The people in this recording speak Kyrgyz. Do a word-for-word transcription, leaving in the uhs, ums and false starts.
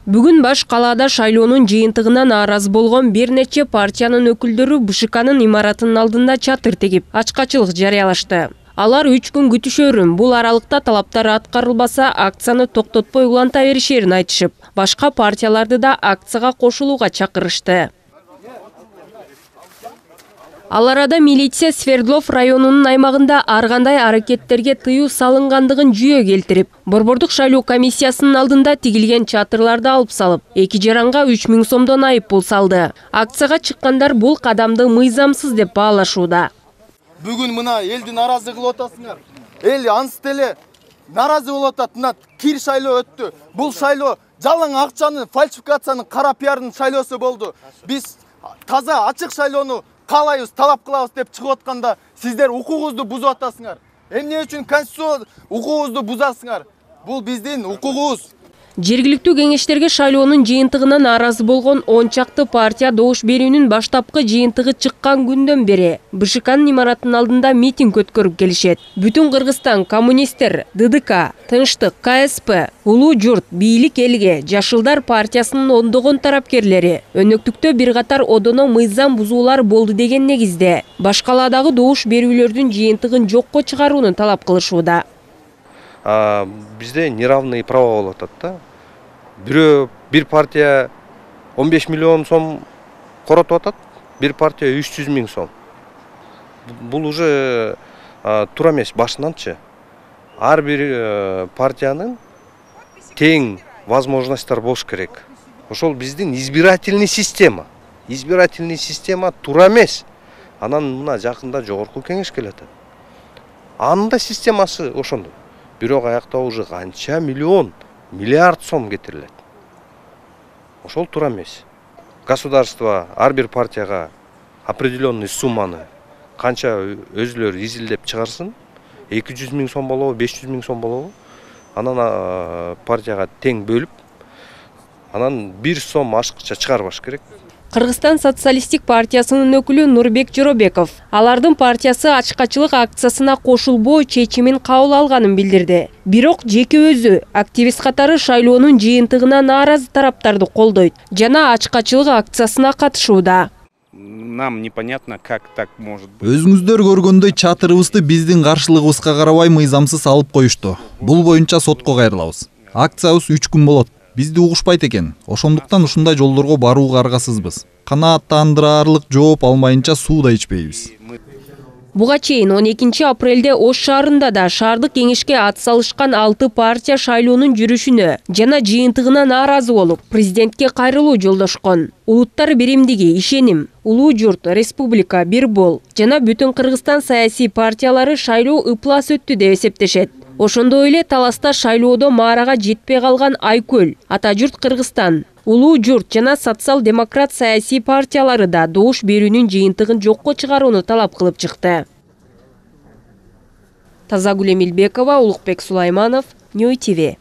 Бүгүн баш калаада шайлоонун жыйынтыгына нааразы болгон бир нече партиянын өкүлдөрү Б Ш К'нын имаратынын алдында чатыр тегип, ачкачылык жарыялашты. Алар үч күн күтүшөрүн, бул аралыкта талаптар аткарылбаса, акцияны токтотпой уланта беришерин айтышып, башка партияларды да акцияга кошулууга чакырышты. Ал арада милиция Свердлов районунун аймагында ар кандай аракеттерге тыюу салынгандыгын жүйө келтирип, Борбордук шайлоо комиссиясынын алдында тигилген чатырларды алып салып, эки жаранга үч миң сомдон айып пул салды. Акцияга чыккандар бул кадамды мыйзамсыз деп баалашууда. Бүгүн мына элди наразы кылып атасыңар. Эл ансы деле наразы болуп атат. Мына кир шайлоо өттү. Бул шайлоо жалаң акчанын, фальсификациянын, кара пиардын шайлоосу болду. Биз таза ачык шайлоону каалайбыз, талап кылабыз деп чыгып атканда сиздер укугубузду бузуп атасыңар. Эмне үчүн конституция укугубузду бузасыңар? Бул биздин укугубуз. Жергиликтүү кеңештерге шайлоонун жыйынтыгына нааразы болгон он чакты партия добуш берүүнүн баштапкы жыйынтыгы чыккан күндөн бери Б Ш К'нын имаратынын алдында митинг өткөрүп келишет. Бүтүн Кыргызстан, коммунисттер, Д Д К, Тынчтык, К С П, Улуу журт, Бийлик элге, Жашылдар партиясынын ондогон тарапкерлери өнөктүктө бир катар одоно мыйзам бузуулар болду деген негизде баш калаадагы добуш берүүлөрдүн жыйынтыгын жокко чыгарууну талап кылышууда. Бизде неравные права болуп атат да. Бирөө бир партия он беш миллион сом коротуп атат, бир партия үч жүз миң сом. Бул уже туура эмес башынанчы. Ар бир партиянын тең возможностьтор болуш керек. Ошол биздин избирательный система. Избирательный система туура эмес. Анан мына жакында жогорку кеңеш келет. Анын да системасы ошондой. Бирок аякта уже канча миллион, миллиард сом кетирилет. Ошол туура эмес. Государство ар бир партияга определенный сумманы канча өзүлөрү изилдеп чыгарсын, эки жүз миң сом болобу, беш жүз миң сом болобу, анан партияга тең бөлүп, анан бир сом ашыкча чыгарбаш керек. Кыргызстан социалисттик партиясынын өкүлү Нурбек Жоробеков алардын партиясы ачкачылык акциясына кошулбоо чечимин кабыл алганын билдирди. Бирок жеке өзү активист катары шайлоонун жыйынтыгына нааразы тараптарды колдойт жана ачкачылык акциясына катышууда. Нам непонятно, как так может быть. Өзүңүздөр көргөндөй чатырыбызды биздин каршылыгыбызга карабай мыйзамсыз алып коюшту. Бул боюнча сотко кайрылабыз. Акциябыз үч күн болот. Бизди угушпайт экен. Ошондуктан ушундай жолдорго барууга аргасызбыз. Канааттандырарлык жооп алмайынча суу да ичпейбиз. Буга чейин он экинчи апрелде Ош шаарында да шаардык кеңешке ат салышкан алты партия шайлоонун жүрүшүнө жана жыйынтыгына нааразы болуп, президентке кайрылуу жолдошкон. Улуттар биримдиги, ишеним, Улуу журт, Республика, Бир бол жана бүтүн Кыргызстан саясий партиялары шайлоо ыплас өттү деп эсептешет. Ошондой эле таласта шайлоодо маарага жетпей калган Айкөл, Ата журт Кыргызстан, Улуу журт жана социал-демократ саясий партиялары да добуш берүүнүн жыйынтыгын жокко чыгарууну талап кылып чыкты. Тазагүл Эмилбекова, Улукбек Сулайманов, Нью Ти Ви.